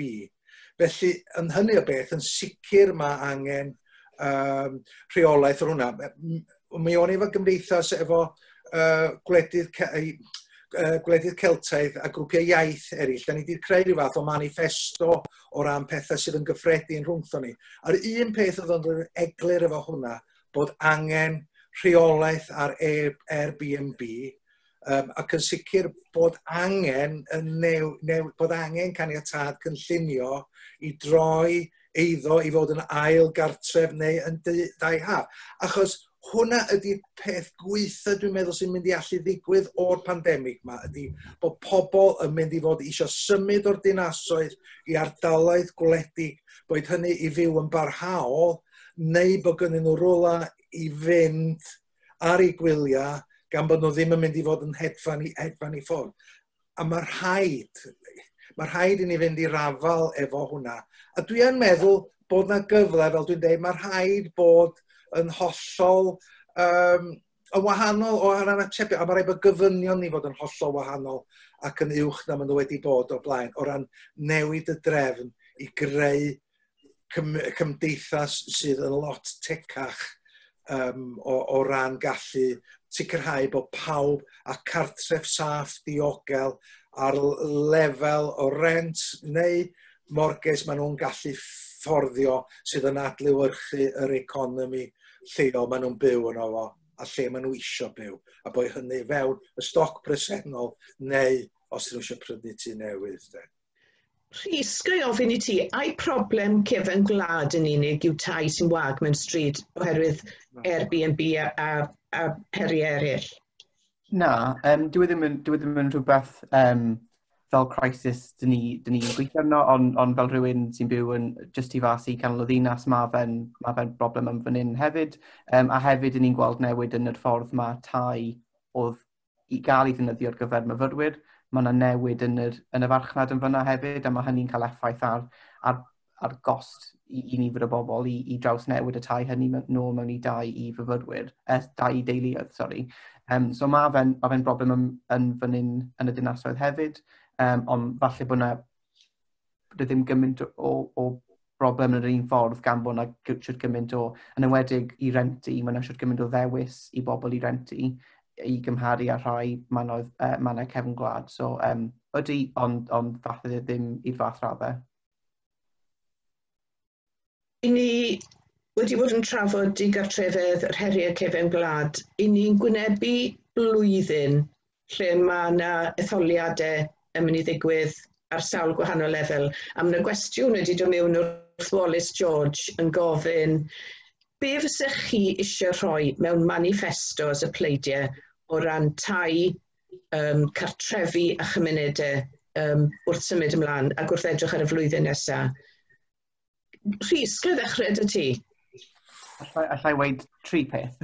Felly, yn hynny o beth, yn sicr mae angen rheolaeth o'r hwnna. Mi o'n i efo gymdeithas efo gwledydd Celtaidd a grwpiau iaith eraill. Da ni wedi creu rhyw fath o manifesto o ran pethau sydd yn gyffredin rhwngtho ni. A'r un peth oedd yn eglur efo hwnna, bod angen rheolaeth ar Airbnb, ac yn sicr bod angen bod angen caniatâd cynllunio i droi eiddo i fod yn ail gartref neu yn dai haf. Achos hwnna ydy'r peth gweitha dwi'n meddwl sy'n mynd i allu ddigwydd o'r pandemig yma, ydy bod pobl yn mynd i fod eisiau symud o'r dinasoedd i ardaloedd gwledig, boed hynny i fyw yn barhaol, neu bod gynnyn nhw rwla i fynd ar eu gwyliau, gan bod nhw ddim yn mynd i fod yn hedfan i ffwrdd. A mae rhaid i ni fynd i'r afael efo hwnna. A dwi yn meddwl bod na gyfle, fel dwi'n dweud, mae rhaid bod yn hollol yn wahanol o ran atebion, a mae rhaid bod gofynion ni fod yn hollol wahanol ac yn uwch na maen nhw wedi bod o'r blaen, o ran newid y drefn i greu cymdeithas sydd yn lot tecach o ran gallu sicrhau bod pawb a cartref saff diogel ar lefel o rent neu mortgage maen nhw'n gallu fforddio sydd yn adlewyrchu yr economi lleol maen nhw'n byw yno fo a lle maen nhw isio byw, a bod hynny fewn y stoc presennol neu os nhw eisiau prynu tŷ newydd. De. Rhys, ga i ofyn i ti, ai problem cefen gwlad yn unig yw tai sy'n wag mewn stryd oherwydd Airbnb a heriau eraill? Na, dwi ddim yn rhywbeth fel crisis dyn ni'n gweithio arno, ond fel rhywun sy'n byw yn just tu fas i canol y ddinas, mae fe'n broblem yn fan hyn hefyd. A hefyd dyn ni'n gweld newid yn yr ffordd mae tai oedd i gael ei ddefnyddio ar gyfer myfyrwyr. Mae yna newid yn y farchnad yn fyna hefyd, a mae hynny'n cael effaith ar gost i nifer o bobl i drawsnewid y tai hynny nôl mewn i dai i fyfyrwyr, dai i deuluoedd, sori. So mae fe'n broblem yn fan hyn yn y dinasoedd hefyd, ond falle bod yna ddim gymaint o broblem yn yr un ffordd gan bod yna siwt gymaint o, yn enwedig i rentu, mae yna siwt gymaint o ddewis i bobl i rentu i gymharu â rhai mannau cefn gwlad. So, ydy, ond falle ddim i'r fath raddau. I ni wedi bod yn trafod digartrefedd, yr heriau cefen gwlad. I ni'n gwynebu blwyddyn lle mae yna etholiadau yn mynd i ddigwydd ar sawl gwahanol lefel. A mae yna gwestiwn wedi dod mewn wrth Wallace George yn gofyn be fysech chi eisiau rhoi mewn manifestos y pleidiau o ran tai, cartrefi a chymunedau wrth symud ymlaen ac wrth edrych ar y flwyddyn nesaf? Rhys, gle ddechrau dy ti? Allai weud tri peth.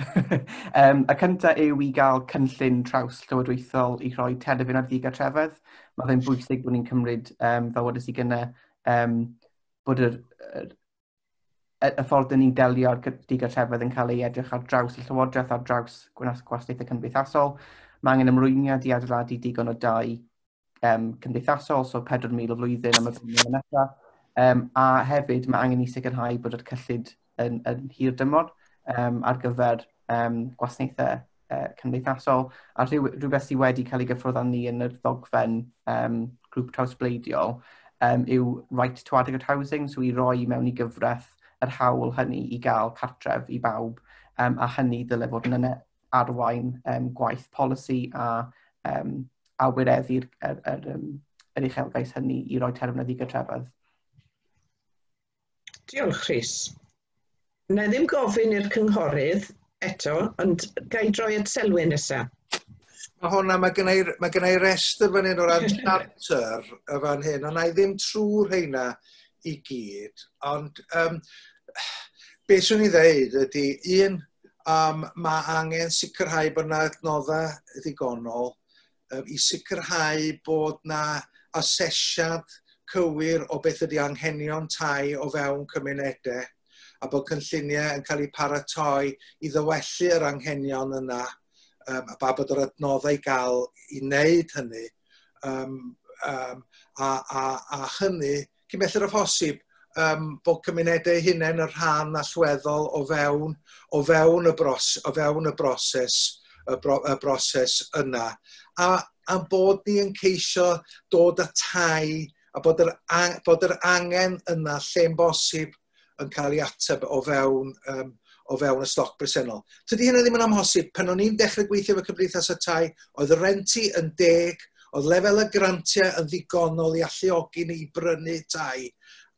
Y cyntaf yw i gael cynllun traws llywodraethol i rhoi terfyn ar ddigartrefedd. Mae fe'n bwysig bod ni'n cymryd, fel wedes i gynne, bod y ffordd dyn ni'n delio ar digartrefedd yn cael ei edrych ar draws y llywodraeth, ar draws gwasanaethau cymdeithasol. Mae angen ymrwymiad i adeiladu digon o dai cymdeithasol, so 4,000 o flwyddyn am y blwyddyn nesaf. A hefyd mae angen i sicrhau bod yr cyllid yn hir dymor ar gyfer gwasanaethau cymdeithasol, a rhywbeth sydd wedi cael ei gyffwrdd â ni yn yr ddogfen grŵp trawsbleidiol yw right to adequate housing, so i roi mewn i gyfraith yr hawl hynny i gael cartref i bawb, a hynny dyle fod yn arwain gwaith polisi a wireddu'r yr uchelgais hynny i roi terfyn ar ddigartrefedd. Diolch, Rhys. Na i ddim gofyn i'r cynghorydd eto, ond ga i droi at Selwyn nesaf. Mae hwnna, mae gynna i restr fan hyn o ran charter y fan hyn, ond na i ddim trwy'r rheina i gyd. Ond beth swn i ddeud ydy, un, mae angen sicrhau bod yna adnoddau ddigonol i sicrhau bod yna asesiad cywir o beth ydy anghenion tai o fewn cymunedau, a bod cynlluniau yn cael eu paratoi i ddywellu yr anghenion yna, a bod yr adnoddau i gael i wneud hynny, a hynny, cyn belled â phosib, bod cymunedau hunain yn rhan allweddol o fewn y broses yna. A bod ni yn ceisio dod â tai, a bod yr angen yna lle'n bosib yn cael ei ateb o fewn y stoc bresennol. Tydi hynny ddim yn amhosib. Pan o'n i'n dechrau gweithio efo Cymdeithas y Tai, oedd y renti yn deg, oedd lefel y grantiau yn ddigonol i alluogi ni i brynu tai,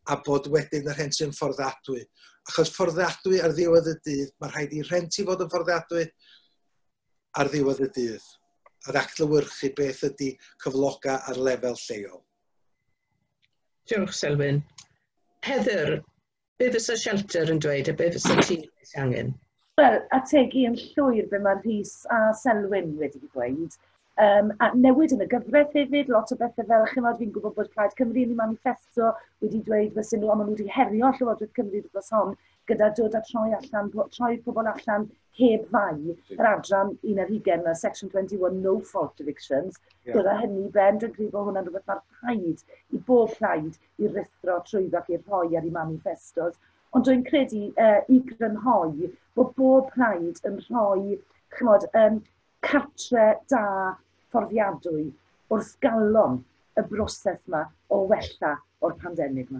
a bod wedyn y rhenti yn fforddiadwy. Achos fforddiadwy ar ddiwedd y dydd, mae rhaid i rhenti fod yn fforddiadwy ar ddiwedd y dydd, ar adlewyrchu beth ydy cyflogau ar lefel lleol. Diolch, Selwyn. Heather, be fysa Shelter yn dweud a be fysa ti angen? Wel, ategu yn llwyr be mae Rhys a Selwyn wedi dweud. A newid yn y gyfraith hefyd, lot o bethau fel, chymod, fi'n gwybod bod Plaid Cymru yn ei manifesto wedi dweud fysen nhw, ond maen nhw wedi herio Llywodraeth Cymru dros hon, gyda dod a troi pobl allan heb fai, yr adran 21, Section 21, no fault evictions, dod â hynny ben, dwi'n credu bod hwnna'n rhywbeth mae'r rhaid i bob plaid i ruthro trwyddo ac i rhoi ar ei manifestos. Ond dwi'n credu i grynhoi bod bob plaid yn rhoi, chymod, cartre da fforddiadwy wrth galon y broses yma o wella o'r pandemig yma.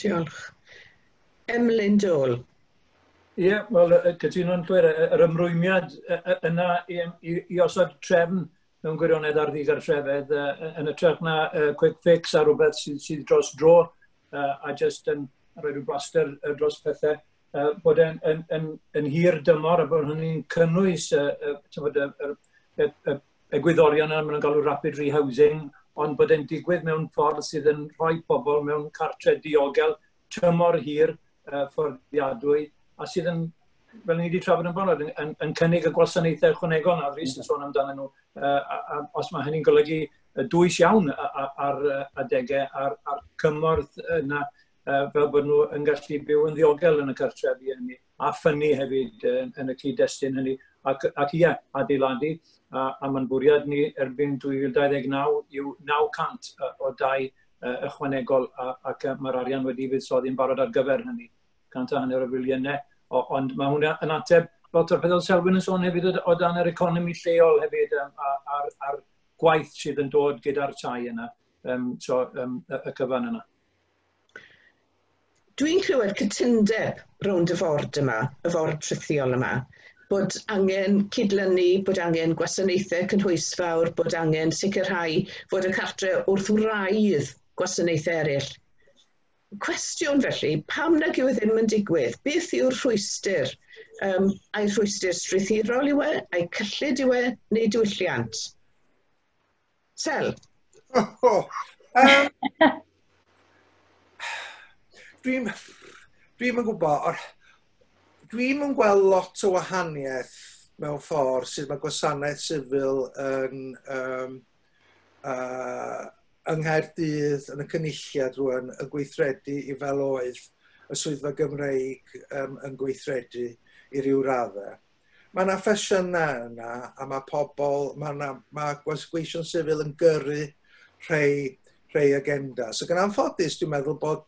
Diolch. Emlyn Dole. Ie, wel, cytuno'n llwyr, yr ymrwymiad yna i osod trefn mewn gwirionedd ar ddigartrefedd yn hytrach na quick fix a rhywbeth sydd dros dro a jyst yn rhoi rhyw blaster dros pethau, bod yn hir dymor a bod hynny'n cynnwys y egwyddorion yna, maen nhw'n galw rapid rehousing, ond bod e'n digwydd mewn ffordd sydd yn rhoi pobl mewn cartre diogel, tymor hir, fforddiadwy, a sydd yn, fel ni wedi trafod yn barod, yn cynnig y gwasanaethau ychwanegol na Rhys yn sôn amdanyn nhw, a os mae hynny'n golygu dwys iawn ar adegau, a'r cymorth yna, fel bod nhw yn gallu byw yn ddiogel yn y cartrefi hynny, a ffynnu hefyd yn y cyd-destun hynny, ac ie, adeiladu, a mae'n bwriad ni erbyn 2029 yw 900 o dai ychwanegol, ac mae'r arian wedi fuddsoddi'n barod ar gyfer hynny, 150 o filiynau, ond mae hwnna yn ateb lot o'r pethau Selwyn yn sôn hefyd o dan yr economi lleol hefyd, a'r gwaith sydd yn dod gyda'r tai yna, y cyfan yna. Dwi'n clywed cytundeb rownd y ford yma, y ford rhithiol yma, bod angen cydlynu, bod angen gwasanaethau cynhwysfawr, bod angen sicrhau fod y cartre wrth wraidd gwasanaethau eraill. Cwestiwn felly, pam nag yw e ddim yn digwydd? Beth yw'r rhwystr? Ai rhwystr strwythurol yw e? Ai cyllid yw e? Neu diwylliant? Sel? Dwi'm yn gwybod, dwi'm yn gweld lot o wahaniaeth mewn ffordd sydd mae gwasanaeth sifil yn yng Nghaerdydd, yn y Cynulliad rwan, yn gweithredu i fel oedd y Swyddfa Gymreig yn gweithredu i ryw raddau. Mae yna ffasiynau yna, a mae pobl, mae gweision sifil yn gyrru rhai agenda. So gan anffodus, dwi'n meddwl bod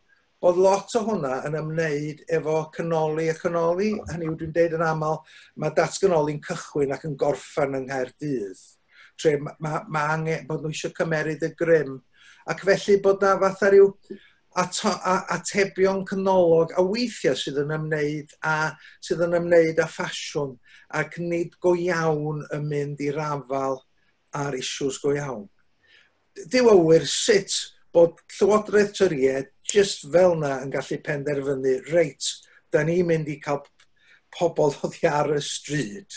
lot o hwnna yn ymwneud efo canoli a canoli. Hynny yw, dwi'n deud yn aml, mae datganoli'n cychwyn ac yn gorffen yng Nghaerdydd. Tre mae angen bod nhw eisiau cymeryd y grym. Ac felly bod na fatha rhyw atebion canolog a weithiau sydd yn ymwneud â ffasiwn ac nid go iawn yn mynd i'r afal ar issues go iawn. Dyw awyr sut bod Llywodraeth Torïaid just fel na yn gallu penderfynu, reit, da ni'n mynd i cael pobl oddi ar y stryd.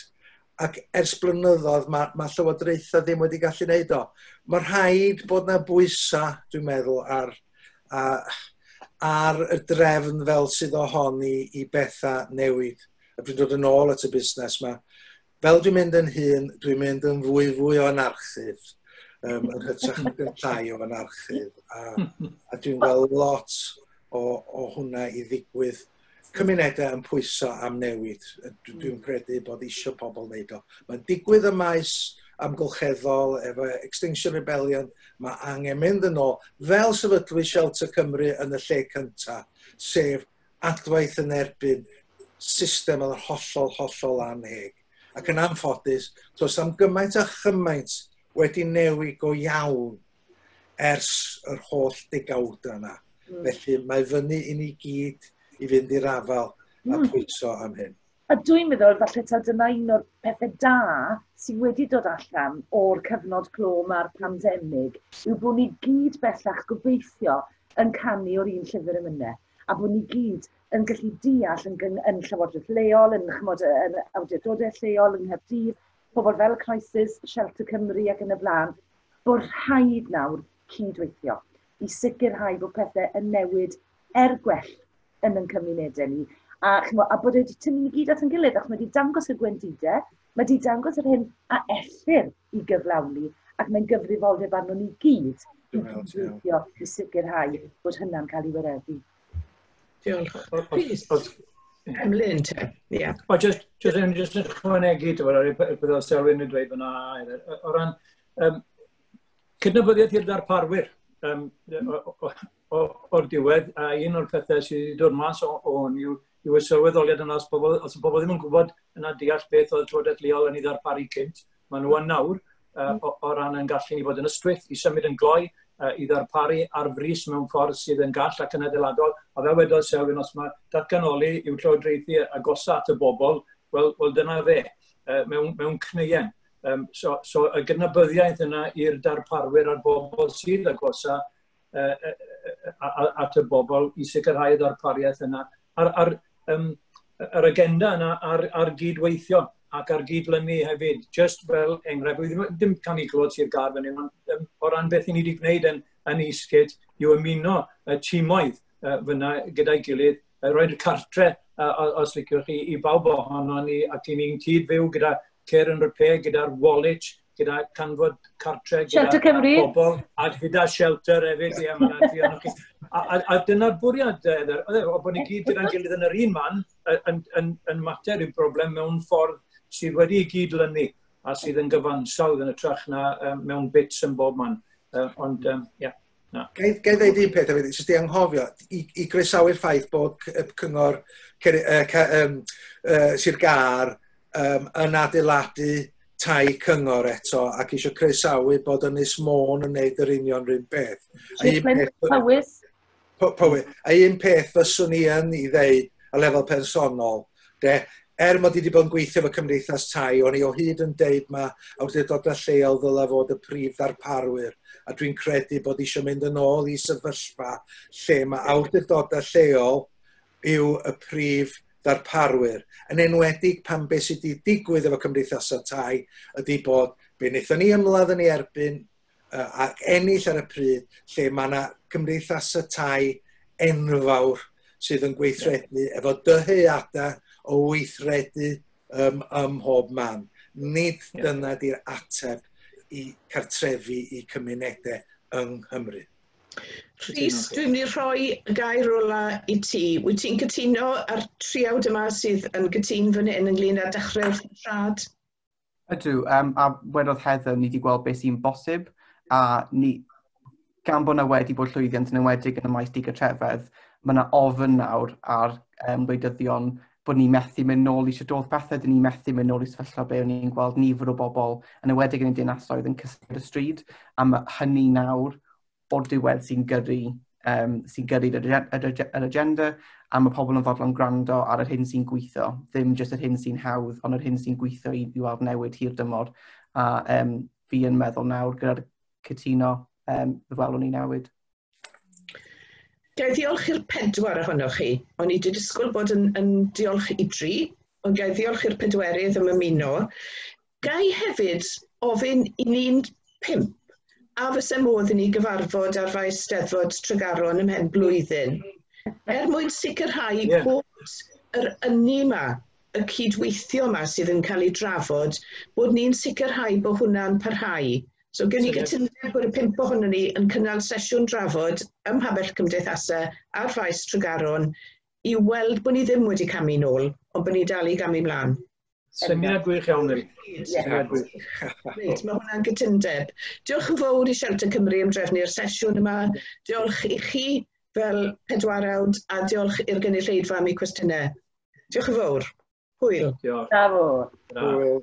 Ac ers blynyddoedd mae llywodraethau ddim wedi gallu wneud o. Mae rhaid bod na bwysau, dwi'n meddwl, ar y drefn fel sydd ohoni i bethau newid. A dwi'n dod yn ôl at y busnes yma. Fel dwi'n mynd yn hŷn, dwi'n mynd yn fwy o anarchydd. Yn hytrach yn llai o anarchydd. A dwi'n gweld lot o hwnna i ddigwydd. Cymunedau yn pwyso am newid. Dwi'n credu bod eisiau pobl wneud o. Mae'n digwydd y maes amgylcheddol efo Extinction Rebellion. Mae angen mynd yn ôl fel sefydlu Shelter Cymru yn y lle cyntaf, sef adwaith yn erbyn system oedd hollol, hollol anheg. Ac yn anffodus, does am gymaint a chymaint wedi newid go iawn ers yr holl degawdau yna. Felly mae fyny i ni gyd i fynd i'r afal a pwyso am hyn. A dwi'n meddwl, falle taw dyna un o'r pethau da sydd wedi dod allan o'r cyfnod clo ma'r pandemig, yw bod ni gyd bellach gobeithio yn canu o'r un llyfr emynau, a bod ni gyd yn gallu deall yn llywodraeth leol, yn awdurdodau lleol, yng Nghaerdydd, pobl fel Crisis, Shelter Cymru ac yn y blaen, bod rhaid nawr cydweithio i sicrhau bod pethau yn newid er gwell yn ein cymunedau ni. A bod wedi tynnu ni gyd at ein gilydd, ac mae wedi dangos y gwendidau, mae wedi dangos yr hyn a ellir i gyflawni, ac mae'n gyfrifoldeb arno ni gyd i gydweithio i sicrhau bod hynna'n cael ei wireddu. Diolch. Rhys, Emlyn te, ie. O, just yn ychwanegu, beth oedd Selwyn yn dweud fyna, o ran cydnabyddiaeth i'r darparwyr o'r diwedd, a un o'r pethau sydd wedi dod mas o hwn yw y sylweddoliad yna, os pobl ddim yn gwybod yna deall beth oedd Llywodraeth Leol yn ei ddarparu cynt, maen nhw yn nawr o ran yn gallu ni fod yn ystwyth, i symud yn gloi, i ddarparu ar frys mewn ffordd sydd yn gall ac yn adeiladol. A fel wedodd Selwyn, os mae datganoli i'w llywodraethu agosa at y bobl, wel dyna fe, mewn cneuen. So y gydnabyddiaeth yna i'r darparwyr a'r bobl sydd agosa at y bobl i sicrhau y ddarpariaeth yna. Yr agenda yna ar gydweithio ac ar gydlynu hefyd, just fel enghraifft, dim canu clod Sir Gâr fan hyn, ond o ran beth i ni wedi gwneud yn Eastgate yw ymuno y tîmoedd fyna gyda'i gilydd, roi'r cartre, os liciwch chi, i bawb ohono ni, ac i ni'n cyd-fyw gyda Care and Repair, gyda'r Wallich, gyda Canfod Cartre, gyda pobl, a gyda Shelter hefyd, ie, mae'n tri ohonoch chi. A dyna'r bwriad, o bod ni gyd gyda'n gilydd yn yr un man, yn mater i'r broblem mewn ffordd sydd wedi ei gydlynu a sydd yn gyfansawdd yn ytrach na mewn bits yn bob man. Ond, ie, na. Gai ddeud un peth hefyd, jyst i anghofio, i groesawu'r ffaith bod Cyngor Sir Gâr yn adeiladu tai cyngor eto ac eisiau croesawu bod Ynys Môn yn wneud yr union rhywun peth. Powys. Powys. A un peth fyswn i yn i ddeud a lefel personol, de, er mod i wedi bod yn gweithio efo cymdeithas tai, o'n i o hyd yn deud ma awdurdodau lleol ddylai fod y prif ddarparwyr, a dwi'n credu bod eisiau mynd yn ôl i sefyllfa lle mae awdurdodau lleol yw y prif ddarparwyr. Yn enwedig pan beth sydd wedi digwydd efo cymdeithasau tai ydy bod be wnaethon ni ymladd yn ei erbyn ac ennill ar y pryd lle mae yna cymdeithasau tai enfawr sydd yn gweithredu efo dyheadau o weithredu ym mhob man. Nid dyna di'r ateb i cartrefi i cymunedau yng Nghymru. Rhys, dwi'n mynd i rhoi y gair ola i ti. Wyt ti'n cytuno ar triawd yma sydd yn gytun fan hyn ynglyn â dechrau wrth y trad? Ydw, a wedodd Heather, ni wedi gweld beth sy'n bosib, a ni, gan bod yna wedi bod llwyddiant yn enwedig yn y maes digartrefedd, mae yna ofyn nawr ar wleidyddion bod ni methu mynd nôl i sut oedd pethau, dyn ni methu mynd nôl i sefyllfa be o'n ni'n gweld nifer o bobl yn enwedig yn y dinasoedd yn cysgu ar y stryd, a mae hynny nawr o'r diwedd sy'n gyrru, sy'n gyrru yr agenda, a mae pobl yn fodlon gwrando ar yr hyn sy'n gweithio, ddim jyst yr hyn sy'n hawdd, ond yr hyn sy'n gweithio i weld newid hir dymor. A fi yn meddwl nawr gyda'r cytuno, fe welwn ni newid. Ga i ddiolch i'r pedwar ohonoch chi. O'n i wedi disgwyl bod yn diolch i dri, ond ga i ddiolch i'r pedwerydd am ymuno. Ga i hefyd ofyn i ni'n pump, a fysa modd i ni gyfarfod ar faes Steddfod Tregaron ymhen blwyddyn, er mwyn sicrhau bod yr ynni yma, y cydweithio yma sydd yn cael ei drafod, bod ni'n sicrhau bod hwnna'n parhau. So gen i gytundeb bod y pump ohonon ni yn cynnal sesiwn drafod ym Mhabell Cymdeithasau ar faes Tregaron i weld bod ni ddim wedi camu nôl, ond bod ni dal i gamu mlaen. Syniad gwych iawn, Mary. Syniad gwych. Reit, mae hwnna'n gytundeb. Diolch yn fawr i Shelter Cymru am drefnu'r sesiwn yma. Diolch i chi fel pedwarawd a diolch i'r gynulleidfa am eu cwestiynau. Diolch yn fawr. Hwyl. Diolch. Bravo. Hwyl.